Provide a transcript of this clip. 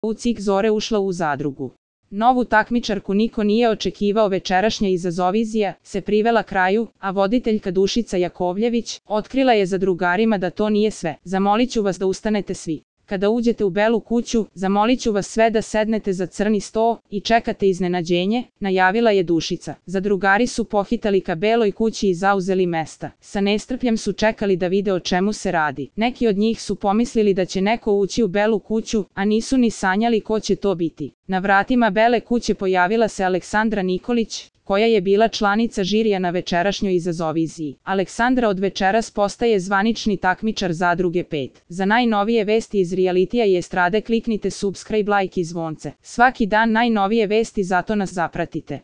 U cik zore ušla u zadrugu. Novu takmičarku niko nije očekivao. Večerašnja izazovizija se privela kraju, a voditeljka Dušica Jakovljević otkrila je zadrugarima da to nije sve. Zamoliću vas da ustanete svi. Kada uđete u Belu kuću, zamoliću vas sve da sednete za crni sto i čekate iznenađenje, najavila je Dušica. Zadrugari su pohitali ka Beloj kući i zauzeli mesta. Sa nestrpljem su čekali da vide o čemu se radi. Neki od njih su pomislili da će neko ući u Belu kuću, a nisu ni sanjali ko će to biti. Na vratima Bele kuće pojavila se Aleksandra Nikolić, koja je bila članica žirija na večerašnjoj izazoviziji. Aleksandra od večeras postaje zvanični takmičar Zadruge 5. Za najnovije vesti iz realitija i estrade kliknite subscribe, like i zvonce. Svaki dan najnovije vesti, zato nas zapratite.